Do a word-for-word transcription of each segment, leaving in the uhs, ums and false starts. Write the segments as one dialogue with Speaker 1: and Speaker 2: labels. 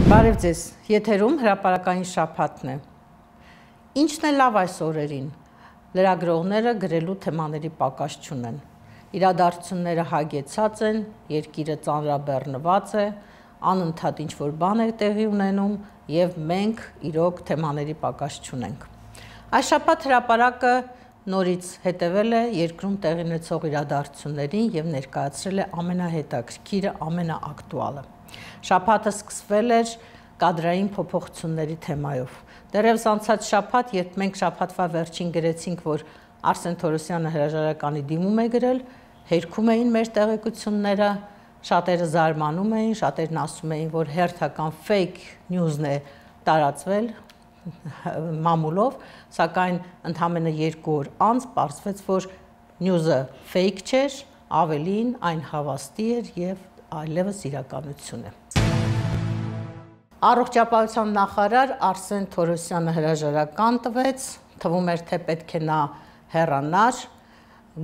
Speaker 1: Բարև ձեզ, եթերում հրապարակային շաբաթն է։ Ինչն է լավ այս օրերին, լրագրողները գրելու թեմաների պակաս չունեն։ Իրադարձությունները հագեցած են, երկիրը ծանրաբեռնված է, անընդհատ ինչ-որ բան է տեղի ունենում և մենք իրոք թեմաների պակաս չունենք։ Այս շաբաթ հրապարակը նորից հետևել է երկրում տեղի ունեցող իրադարձություններին և ներկայացրել է ամենահետաքրքիրը, ամենաակտուալը։ Շաբաթը սկսվել էր կադրային փոփոխությունների թեմայով։ Դեռևս անցած շաբաթ, երբ մենք շաբաթվա վերջին գրեցինք, որ Արսեն Թորոսյանը հրաժարականի դիմում է գրել, հերքում էին մեր տեղեկությունները, շատերը զարմանում էին, շատերն ասում էին, որ հերթական fake news-ն է տարածվել մամուլով, սակայն ընդամենը երկու օր անց պարզվեց, որ news-ը fake չէր, ավելին այն հավաստի էր և այլևս իրականություն է։ Առողջապահության նախարար Արսեն Թորոսյանը հրաժարական տվեց, թվում էր, թե պետք է նա հեռանար,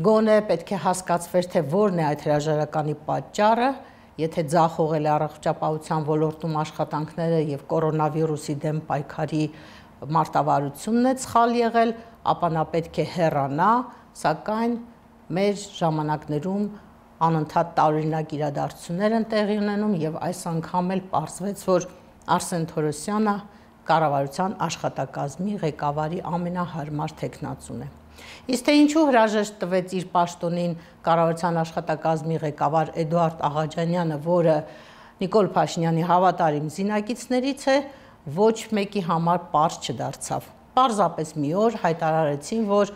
Speaker 1: գոնե պետք է հասկացվեր, թե որն է այդ հրաժարականի պատճառը, եթե ձախողել է առողջապահության ոլորտում աշխատանքները և կորոնավիրուսի դեմ պայքարի մարտավարությունն է սխալ եղել, ապա նա պետք է հեռանա, սակայն մեր ժամանակներում անընդհատ տարօրինակ իրադարձություններ են տեղի ունենում և այս անգամ էլ պարզվեց, որ Արսեն Թորոսյանը կառավարության աշխատակազմի ղեկավարի ամենահարմար թեկնածուն է։ Իսկ թե ինչու հրաժեշտ տվեց իր պաշտոնին կառավարության աշխատակազմի ղեկավար Էդուարդ Աղաջանյանը, որը Նիկոլ Փաշինյանի հավատարիմ զինակիցներից է, ոչ մեկի համար պարզ չդարձավ։ Պարզապես մի օր հայտարարեցին, որ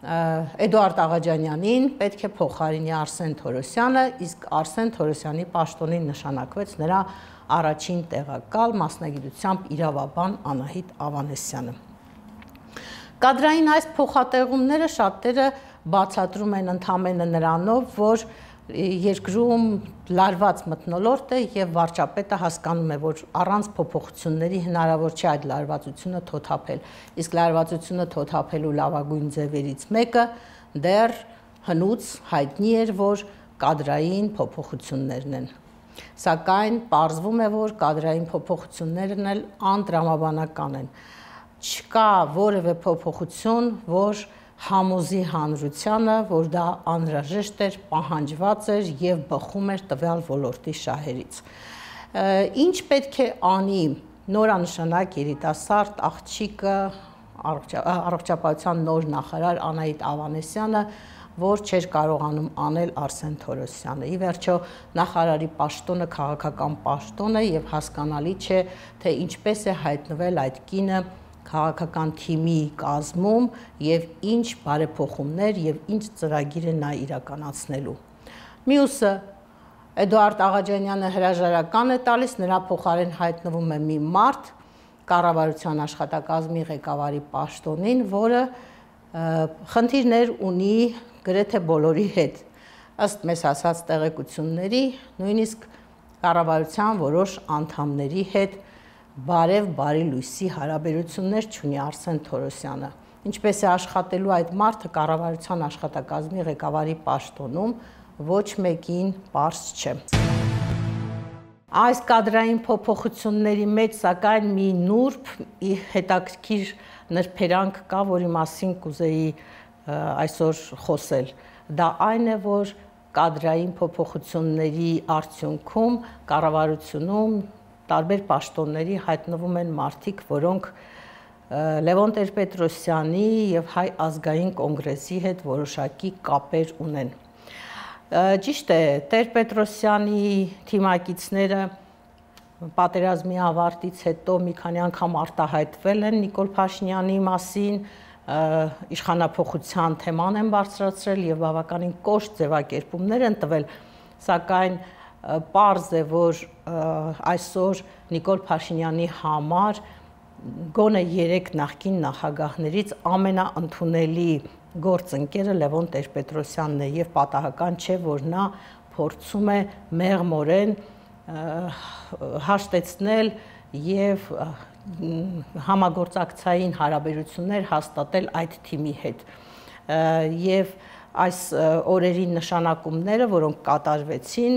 Speaker 1: Էդուարդ Աղաջանյանին պետք է փոխարինի Արսեն Թորոսյանը, իսկ Արսեն Թորոսյանի պաշտոնին նշանակվեց նրա առաջին տեղակալ, մասնագիտությամբ իրավաբան Անահիտ Ավանեսյանը։ Կադրային այս փոխատեղումները շատերը բացատրում են ընդամենը նրանով, որ երկրում լարված մթնոլորտ է և վարչապետը հասկանում է, որ առանց փոփոխությունների հնարավոր չէ այդ լարվածությունը թոթափել, իսկ լարվածությունը թոթափելու լավագույն ձևերից մեկը դեռ հնուց հայտնի էր, որ կադրային փոփոխություններն են։ Սակայն պարզվում է, որ կադրային փոփոխություններն էլ անտրամաբանական են։ Չկա որևէ փոփոխություն, որ համոզի հանրությանը, որ դա անհրաժեշտ էր, պահանջված էր և բխում էր տվյալ ոլորտի շահերից։ Ինչ պետք է անի նորանշանակ երիտասարդ աղջիկը, առողջապահության նոր նախարար Անահիտ Ավանեսյանը, որ չէր կարողանում անել Արսեն Թորոսյանը։ Ի վերջո նախարարի պաշտոնը քաղաքական պաշտոն է և հասկանալի չէ, թե ինչպես է հայտնվել այդ կինը քաղաքական թիմի կազմում և ինչ բարեփոխումներ և ինչ ծրագիր է նա իրականացնելու։ Մյուսը Էդուարդ Աղաջանյանը հրաժարական է տալիս, նրա փոխարեն հայտնվում է մի մարդ կառավարության աշխատակազմի ղեկավարի պաշտոնին, որը խնդիրներ ունի գրեթե բոլորի հետ։ Ըստ մեզ հասած տեղեկությունների, նույնիսկ կառավարության որոշ անդամների հետ բարև բարի լույսի հարաբերություններ չունի Արսեն Թորոսյանը։ Ինչպես է աշխատելու այդ մարդը կառավարության աշխատակազմի ղեկավարի պաշտոնում, ոչ մեկին պարզ չէ։ Այս կադրային փոփոխությունների մեջ սակայն մի նուրբ հետաքրքիր նրբերանգ կա, որի մասին կուզեի այսօր խոսել։ Դա այն է, որ կադրային փոփոխությունների արդյունքում կառավարությունում տարբեր պաշտոնների հայտնվում են մարդիկ, որոնք Լևոն Տեր-Պետրոսյանի և Հայ ազգային կոնգրեսի հետ որոշակի կապեր ունեն։ Ճիշտ է, Տեր-Պետրոսյանի թիմակիցները պատերազմի ավարտից հետո մի քանի անգամ արտահայտվել են Նիկոլ Փաշինյանի մասին, իշխանափոխության թեման են բարձրացրել և բավականին կոշտ ձևակերպումներ են տվել, սակայն պարզ է, որ այսօր Նիկոլ Փաշինյանի համար գոնե երեք նախկին նախագահներից ամենաընդունելի գործընկերը Լևոն Տեր-Պետրոսյանն է և պատահական չէ, որ նա փորձում է մեղմորեն հաշտեցնել և համագործակցային հարաբերություններ հաստատել այդ թիմի հետ։ Եվ այս օրերի նշանակումները, որոնք կատարվեցին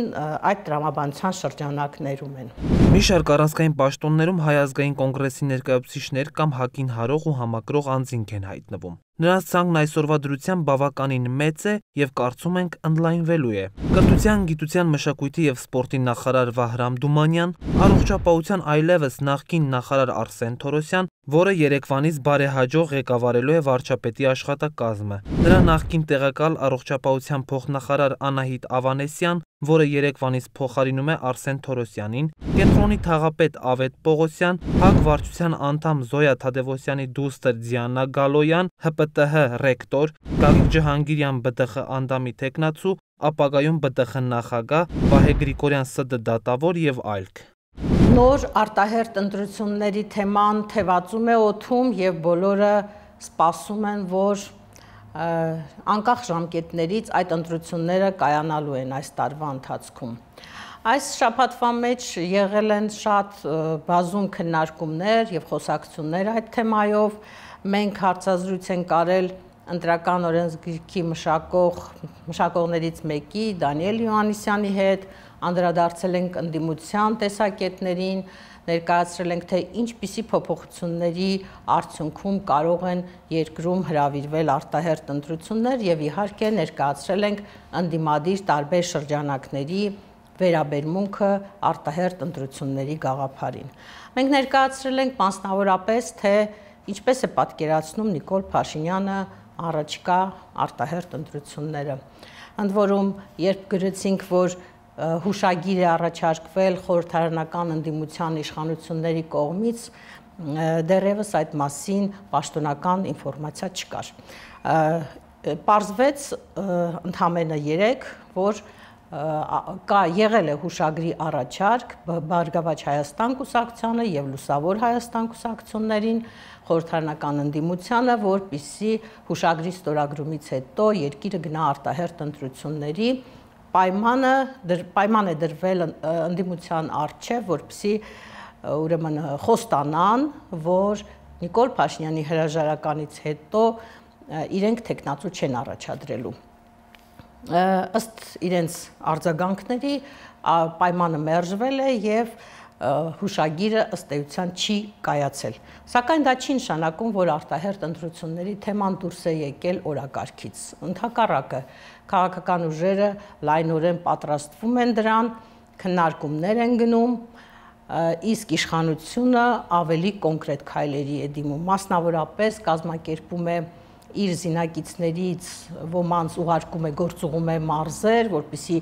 Speaker 1: այդ տրամաբանության շրջանակներում են։
Speaker 2: Մի շարք առանցքային պաշտոններում Հայ ազգային կոնգրեսի ներկայացուցիչներ կամ ՀԱԿ-ին հարող ու համակրող անձինք են հայտնվում։ Նրանց ցանկն այսօրվա դրությամբ բավականին մեծ է եւ կարծում ենք ընդլայնվելու է։ Կրթության, գիտության, մշակույթի եւ սպորտի նախարար Վահրամ Դումանյան, առողջապահության այլևս նախկին նախարար Արսեն Թորոսյան, որը երեկվանից բարեհաջող ղեկավարելու է վարչապետի աշխատակազմը։ Նրա նախկին տեղակալ առողջապահության փոխնախարար Անահիտ Ավանեսյան, որը երեկվանից փոխարինում է Արսեն Թորոսյանին, կենտրոնի թաղապետ Ավետ Պողոսյան, ՀԱԿ վարչության անդամ Զոյա Թադևոսյանի դուստր Դիանա Գալոյան, ՀՊՏՀ ռեկտոր, Գագիկ Ջհանգիրյան ԲՏԽ անդամի թեկնածու, ապագայում ԲՏԽ նախագահ, Վահե Գրիգորյան ՍԴ դատավոր եւ այլք։
Speaker 1: Նոր արտահերտ ընտրությունների թեման թևածում է օդում եւ բոլորը սպասում են, որ անկախ ժամկետներից այդ ընտրությունները կայանալու են այս տարվա ընթացքում։ Այս շաբաթվա մեջ եղել են շատ բազում քննարկումներ եւ խոսակցություններ այդ թեմայով։ Մենք հարցազրույց ենք արել ընտրական օրենսգիրքի մշակող մշակողներից մեկի Դանիել Յոհաննիսյանի հետ, անդրադարձել ենք ընդդիմության տեսակետներին, ներկայացրել ենք, թե ինչպիսի փոփոխությունների արդյունքում կարող են երկրում հրավիրվել արտահերտ ընտրություններ եւ իհարկե ներկայացրել ենք ընդդիմադիր տարբեր շրջանակների վերաբերմունքը արտահերտ ընտրությունների գաղափարին։ Մենք ներկայացրել ենք մասնավորապես, թե ինչպես է պատկերացնում Նիկոլ Փաշինյանը առաջկա արտահերտ ընտրությունները։ Ընդ որում, երբ գրեցինք, որ հուշագիր է առաջարկվել խորհրդարանական ընդդիմության իշխանությունների կողմից, դեռևս այդ մասին պաշտոնական ինֆորմացիա չկար։ Պարզվեց ընդամենը երեկ, որ կա եղել է հուշագրի առաջարկ Բարգավաճ Հայաստան կուսակցությանը եւ Լուսավոր Հայաստան կուսակցություններին, խորհրդարանական ընդդիմությանը, որպիսի հուշագրի ստորագրումից հետո երկիրը գնա արտահերտ ընտրությունների, պայմանը պայման է դրվել ընդդիմության առջև, որպեսզի ուրեմն խոստանան, որ Նիկոլ Փաշինյանի հրաժարականից հետո իրենք տեխնացու չեն առաջադրելու։ Ըստ իրենց արձագանքների պայմանը մերժվել է եւ հուշագիրը ըստ էության չի կայացել։ Սակայն դա չի նշանակում, որ արտահերտ ընտրությունների թեման դուրս է եկել օրակարգից։ Ընդհակառակը, քաղաքական ուժերը լայնորեն պատրաստվում են դրան, քննարկումներ են գնում, իսկ իշխանությունը ավելի կոնկրետ քայլերի է դիմում, մասնավորապես կազմակերպում է իր զինակիցներից ոմանց ուղարկում է, գործուղում է մարզեր, որպեսզի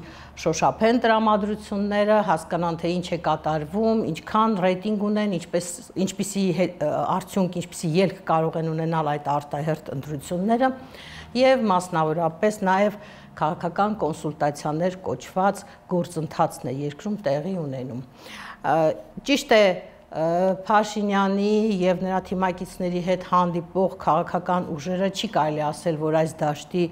Speaker 1: շոշափեն տրամադրությունները, հասկանան, թե ինչ է կատարվում, ինչքան ռեյտինգ ունեն, ինչպես ինչպիսի արդյունք, ինչպիսի ելք կարող են ունենալ այդ արտահերտ ընտրությունները եւ մասնավորապես նաեւ քաղաքական կոնսուլտացիաներ կոչված գործընթացն է երկրում տեղի ունենում։ Ճիշտ է, Փաշինյանի եւ նրա թիմակիցների հետ հանդիպող քաղաքական ուժերը չի կարելի ասել, որ այս դաշտի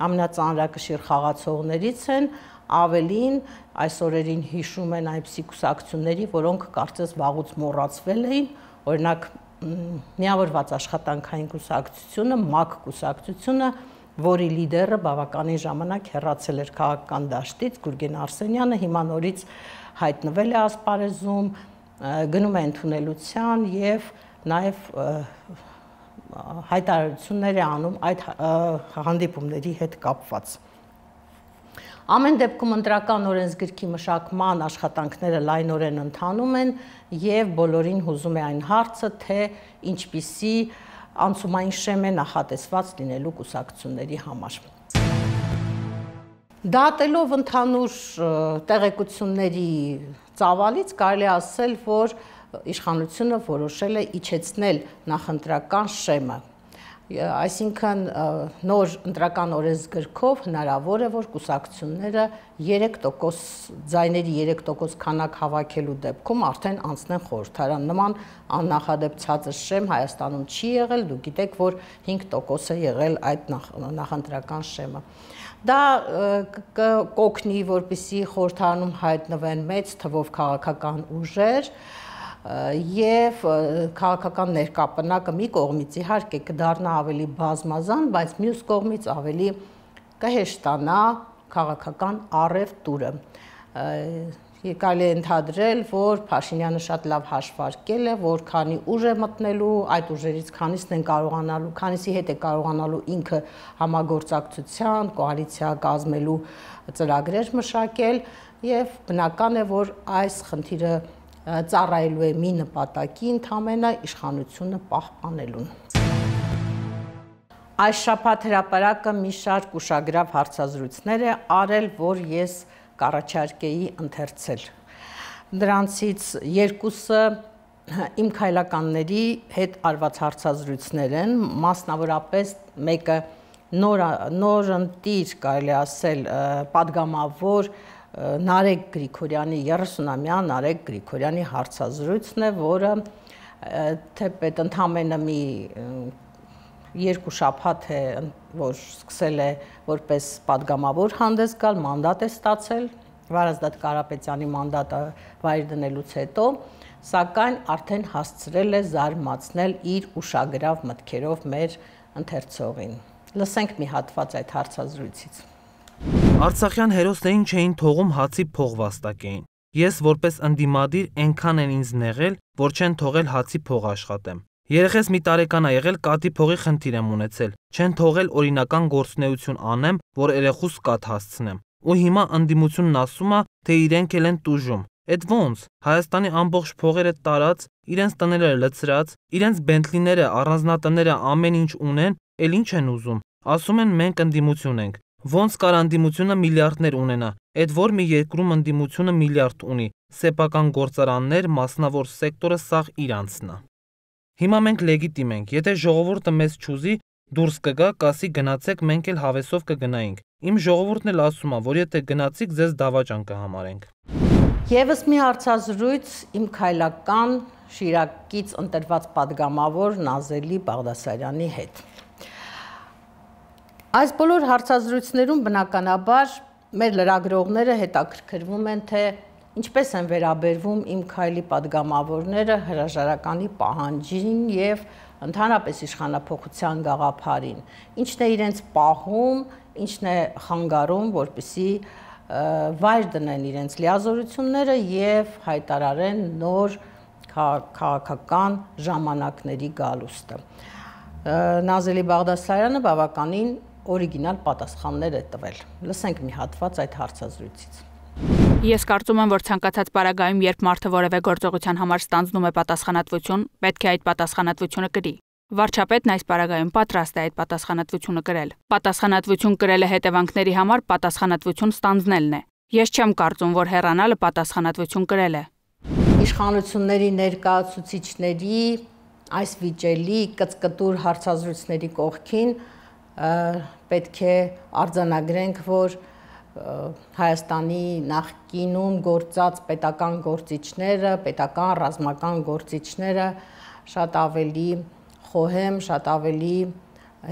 Speaker 1: ամենածանրակշիռ խաղացողներից են, ավելին այս օրերին հիշում են այնպիսի կուսակցությունների, որոնք կարծես վաղուց մոռացվել էին, օրինակ միավորված աշխատանքային կուսակցությունը, ՄԱԿ կուսակցությունը, որի լիդերը բավականին ժամանակ հեռացել էր քաղաքական դաշտից, Գուրգեն Արսենյանը հիմա նորից հայտնվել է ասպարեզում, գնում է ընդունելության եւ նաեւ հայտարարություններ է անում այդ հանդիպումների հետ կապված։ Ամեն դեպքում ընտրական օրենսգրքի մշակման աշխատանքները լայնորեն ընթանում են եւ բոլորին հուզում է այն հարցը, թե ինչպիսի անցումային շեմ է նախատեսված լինելու կուսակցությունների համար։ Դատելով ընդհանուր տեղեկությունների ծավալից կարելի ասել, որ իշխանությունը որոշել է իջեցնել նախընտրական շեմը։ Այսինքն նոր ընտրական օրենսգրքով հնարավոր է, որ կուսակցությունները երեք տոկոս ձայների երեք տոկոս քանակ հավաքելու դեպքում արդեն անցնեն խորհրդարան։ Նման աննախադեպ ցածր շեմ Հայաստանում չի եղել, դուք գիտեք, որ հինգ տոկոս է եղել այդ նախընտրական շեմը։ Դա կօգնի, որպեսզի խորհրդարանում հայտնվեն մեծ թվով քաղաքական ուժեր եւ քաղաքական ներկապնակը մի կողմից իհարկե կդառնա ավելի բազմազան, բայց մյուս կողմից ավելի կհեշտանա քաղաքական առևտուրը։ Կարելի է ընդհանրել, որ Փաշինյանը շատ լավ հաշվարկել է, որ քանի ուժ է մտնելու, այդ ուժերից քանիսն են կարողանալու, քանիսի հետ է կարողանալու ինքը համագործակցության, կոալիցիա կազմելու ծրագրեր մշակել, եւ բնական է, որ այս խնդիրը ծառայելու է մի նպատակի, ընդհանրապես իշխանությունը պահպանելուն։ Այս շաբաթ հրապարակը մի շարք ուշագրավ հարցազրույցներ է արել, որ ես կառաջարկեի ընթերցել։ Դրանցից երկուսը իմ քայլականների հետ արված հարցազրույցներ են, մասնավորապես մեկը նորընտիր, կարելի ասել, պատգամավոր Նարեկ Գրիգորյանի երեսունամյա Նարեկ Գրիգորյանի հարցազրույցն է, որը թեպետ ընդամենը մի երկու շաբաթ է, որ սկսել է որպես պատգամավոր հանդես գալ, մանդատ է ստացել, Վարազդատ Կարապետյանի մանդատը վայր դնելուց հետո, սակայն արդեն հասցրել է զարմացնել իր ուշագրավ մտքերով մեր ընթերցողին։ Լսենք մի հատված այդ հարցազրույցից։
Speaker 2: Արցախյան հերոսներին չէին թողում հացի փող վաստակեին։ Ես որպես ընդդիմադիր այնքան են ինձ նեղել, որ չեն թողել հացի փող աշխատեմ։ Երեխես մի տարեկան ա եղել, կատի փողի խնդիր եմ ունեցել, չեն թողել օրինական գործունեություն անեմ, որ երեխուս կաթ հասցնեմ։ Ու հիմա ընդդիմությունն ասում է, թե իրենք էլ են տուժում։ Էդ ոնց, Հայաստանի ամբողջ փողերը տարած, իրենց տները լցրած, իրենց բենտլիները, առանձնատները ամեն ինչ ունեն, էլ ինչ են ուզում։ Ասում են մենք ընդդիմություն ենք։ Ոնց կար ընդդիմությունը միլիարդներ ունենա, այդ որ մի երկրում ընդդիմությունը միլիարդ ունի, սեփական գործարաններ, մասնավոր սեկտորը սաղ իրանցն է։ Հիմա մենք լեգիտիմ ենք, եթե ժողովուրդը մեզ չուզի, դուրս կգա, կասի գնացեք, մենք էլ հավեսով կգնայինք։ Իմ ժողովուրդն էլ ասում է, որ եթե գնացիք, ձեզ դավաճան կհամարենք։
Speaker 1: Եվս մի հարցազրույց իմ քայլական Շիրակից ընտրված պատգամավոր Նազելի Բաղդասարյանի հետ։ Այս բոլոր հարցազրույցներում բնականաբար մեր լրագրողները հետաքրքրվում են, թե ինչպես են վերաբերվում իմ քայլի պատգամավորները հրաժարականի պահանջին եւ ընդհանրապես իշխանափոխության գաղափարին, ինչն է իրենց պահում, ինչն է խանգարում, որպեսզի վայր դնեն իրենց լիազորությունները եւ հայտարարեն նոր քաղաքական ժամանակների գալուստը։ Նազելի Բաղդասարյանը բավականին օրիգինալ պատասխաններ է տվել։ Լսենք մի հատված այդ հարցազրույցից։
Speaker 3: Ես կարծում եմ, որ ցանկացած պարագայում, երբ մարդը որևէ գործողության համար ստանձնում է պատասխանատվություն, պետք է այդ պատասխանատվությունը կրի։ Վարչապետն այս պարագայում պատրաստ է այդ պատասխանատվությունը կրել։ Պատասխանատվություն կրելը հետևանքների համար պատասխանատվություն ստանձնելն է։ Ես չեմ կարծում, որ հեռանալը պատասխանատվություն կրել է։
Speaker 1: Իշխանությունների ներկայացուցիչների այս վիճելի կծկտուր հարցազրույցների կողքին պետք է արձանագրենք, որ Հայաստանի նախկինում գործած պետական գործիչները, պետական ռազմական գործիչները շատ ավելի խոհեմ, շատ ավելի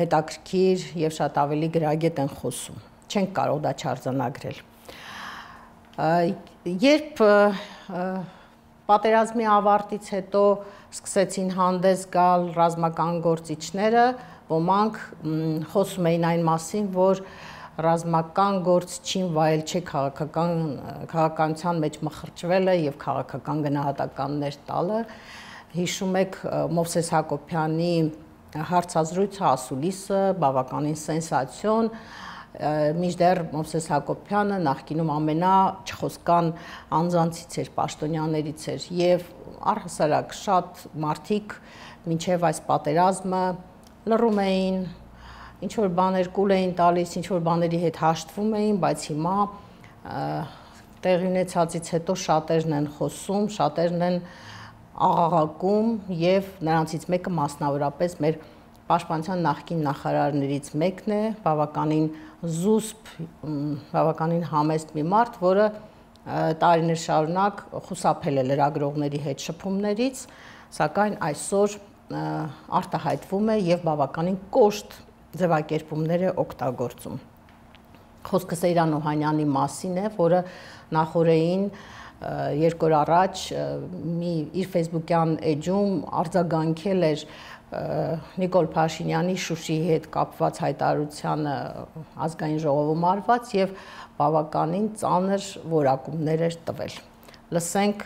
Speaker 1: հետաքրքիր եւ շատ ավելի գրագետ են խոսում։ Չենք կարող դա չարձանագրել։ Երբ պատերազմի ավարտից հետո սկսեցին հանդես գալ ռազմական գործիչները, ոմանք խոսում էին այն մասին, որ ռազմական գործչին վայել չէ քաղաքական քաղաքականության մեջ մխրճվելը եւ քաղաքական գնահատականներ տալը։ Հիշում եք Մովսես Հակոբյանի հարցազրույցը ասուլիսը, բավականին սենսացիոն, մինչդեռ Մովսես Հակոբյանը նախկինում ամենաչխոսկան անձանցից էր, պաշտոնյաներից էր եւ առհասարակ շատ մարդիկ մինչեւ այս պատերազմը լռում էին, ինչ որ բաներ կուլ էին տալիս, ինչ որ բաների հետ հաշտվում էին, բայց հիմա տեղի ունեցածից հետո շատերն են խոսում, շատերն են աղաղակում եւ նրանցից մեկը մասնավորապես մեր պաշտպանության նախկին նախարարներից մեկն է, բավականին զուսպ, բավականին համեստ մի մարդ, որը տարիներ շարունակ խուսափել է լրագրողների հետ շփումներից, սակայն այսօր արտահայտվում է եւ բավականին կոշտ ձևակերպումներ է օգտագործում։ Խոսքը Սեյրան Օհանյանի մասին է, որը նախորդին երկու օր առաջ մի իր Facebook-յան էջում արձագանքել էր Նիկոլ Փաշինյանի Շուշիի հետ կապված հայտարարությանը ազգային ժողովում արված եւ բավականին ծանր որակումներ էր տվել։ Լսենք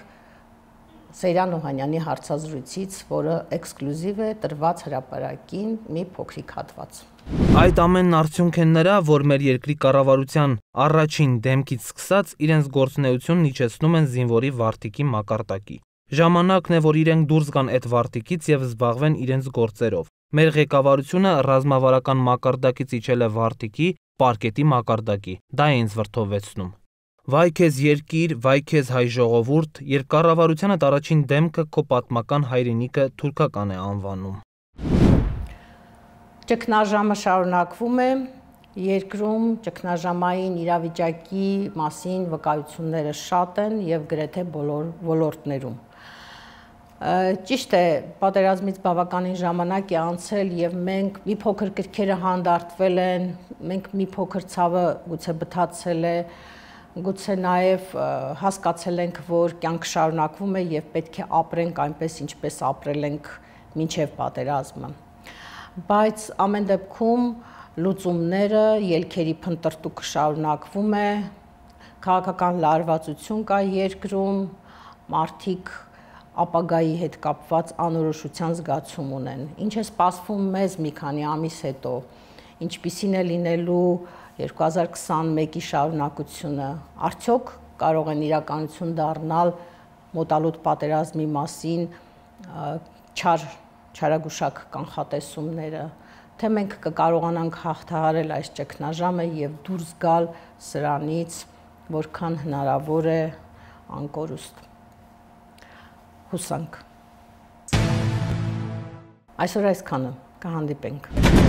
Speaker 1: Սեյրան Օհանյանի հարցազրույցից, որը էքսկլյուզիվ է տրված հրապարակին մի փոքրիկ հատված։
Speaker 2: Այդ ամենն արդյունք են նրա, որ մեր երկրի կառավարության առաջին դեմքից սկսած իրենց գործունեությունն իջեցնում են զինվորի վարտիքի մակարդակի։ Ժամանակն է, որ իրենք դուրս գան այդ վարտիքից եւ զբաղվեն իրենց գործերով։ Մեր ղեկավարությունը ռազմավարական մակարդակից իջել է վարտիքի, պարկետի մակարդակի։ Դա է ինձ վրդովեցնում։ Վայ քեզ երկիր, վայ քեզ հայ ժողովուրդ, երբ կառավարությանդ առաջին դեմքը քո պատմական հայրենիքը թուրքական է անվանում։
Speaker 1: Ճգնաժամը շարունակվում է, երկրում ճգնաժամային իրավիճակի մասին վկայությունները շատ են եւ գրեթե բոլոր ոլորտներում։ Ճիշտ է, պատերազմից բավականին ժամանակ է անցել եւ մենք մի փոքր կրքերը հանդարտվել են, մենք մի փոքր ցավը գուցե բթացել է, գուցե նաև հասկացել ենք, որ կյանքը շարունակվում է եւ պետք է ապրենք այնպես, ինչպես ապրել ենք մինչեւ պատերազմը։ Բայց ամեն դեպքում լուծումները, ելքերի փնտրտուքը շարունակվում է, քաղաքական լարվածություն կա երկրում, մարդիկ ապագայի հետ կապված անորոշության զգացում ունեն։ Ինչ է սպասվում մեզ մի քանի ամիս հետո, ինչպիսին է լինելու երկու հազար քսանմեկի շարունակությունը, արդյոք կարող են իրականություն դառնալ մոտալուտ պատերազմի մասին չար չարագուշակ կանխատեսումները, թե մենք կկարողանանք հաղթահարել այս ճգնաժամը եւ դուրս գալ սրանից, որքան հնարավոր է անկորուստ։ Հուսանք։ Այսօր այսքանը, կհանդիպենք։